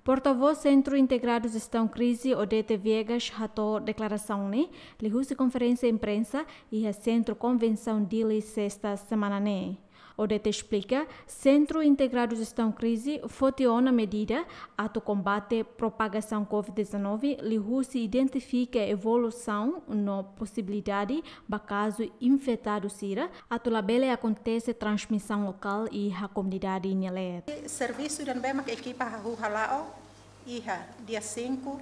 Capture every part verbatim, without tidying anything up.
Portavós Sentru Integradu Jestaun Krize, Odete Viegas, hato'o deklarasaun ne'e liuhusi konferénsia imprensa iha Sentru Konvensaun Dili, Sesta semana ne'e. Odete esplika, Sentru Integradu Jestaun Krize foti ona medida atu kombate propagasaun covid dezanove, liuhusi identifika evolusaun no posibilidade ba kazu infetadu sira, atu labele akontese transmisaun lokál iha komunidade nia leet. Servisu ida ne'ebé mak ekipa hahú hala'o iha dia cinco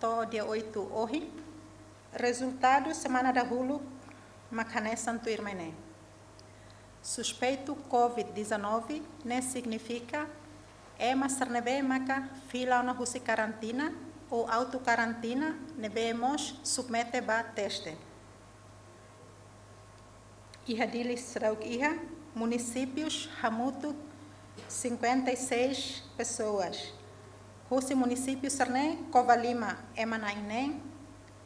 to'o dia oito ohin. Rezultadu semana dahuluk mak hanesan tuirmai ne'e. Suspeitu covid dezanove ne'e signifika ema sira ne'ebé maka fila ona husi karantina ou autokarantina ne'ebé mós submete ba teste. Iha Dili seidauk iha munisípius hamutuk cinquenta e seis pessoas. Husi munisípiu sira-ne'e Covalima ema na'in-neen,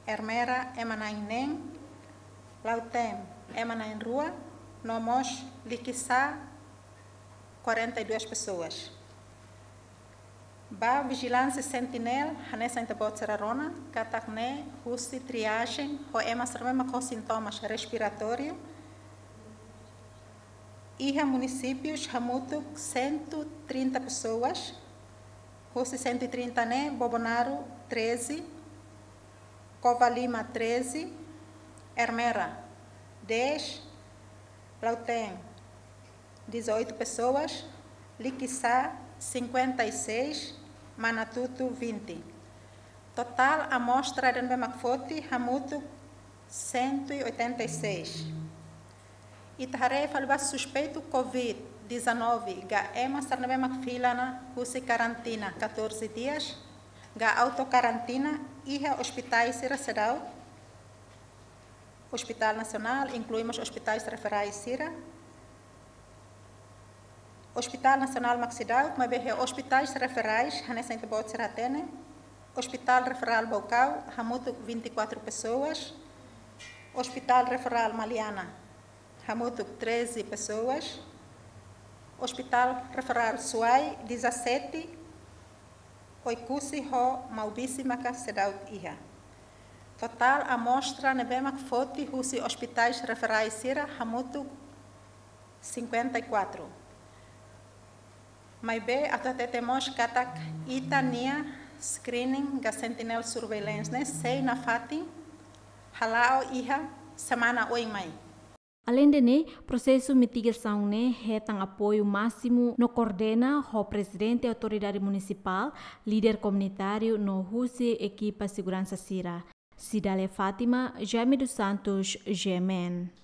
Ermera ema na'in-neen, Lautém ema na'in-rua, no mós Liquiçá quarenta e duas pessoas. Ba Vigilância Sentinel, hanesan ita-boot sira rona katak ne'e husi triagem ho ema sira ne'ebé mak ho sintomas respiratóriu. Iha munisípius hamutuk cento e trinta pessoas, husi cento e trinta ne'e Bobonaro treze, Covalima treze, Ermera dez, Lautém dezoito pessoas, Liquiçá cinquenta e seis, Manatuto vinte. Totál amostra ida ne'ebé mak foti hamutuk cento e oitenta e seis. Ita haree fali ba suspeitu covid dezanove ka ema sira ne'ebé mak fila ona husi karantina catorze dias ka autokarantina iha ospitais sira seidauk. Hospital Nasionál, inklui mós ospitais referais sira. Hospital Nasionál mak seidauk, maibé iha ospitais referais, hanesan ita-boot sira hatene. Hospital Referral Baucau, hamutuk vinte e quatro pessoas. Hospital Referral Maliana, hamutuk treze pessoas. Hospital Referral Suai, dezassete. Oekusi ho Maubisse maka seidauk iha. Totál amostra ne'ebé mak foti husi ospitais referais sira hamutuk cinquenta e quatro. Maibé atu hatete mós katak ita-nia screening ka sentinel surveillance ne'e sei nafatin hala'o iha semana oin mai. Aleinde ne'e, prosesu mitigasaun ne'e hetan apoiu másimu no koordena ho Prezidente Autoridade Munisipál, líder komunitáriu no husi ekipa seguransa sira. Cidália Fátima, Jaime dos Santos, G M N.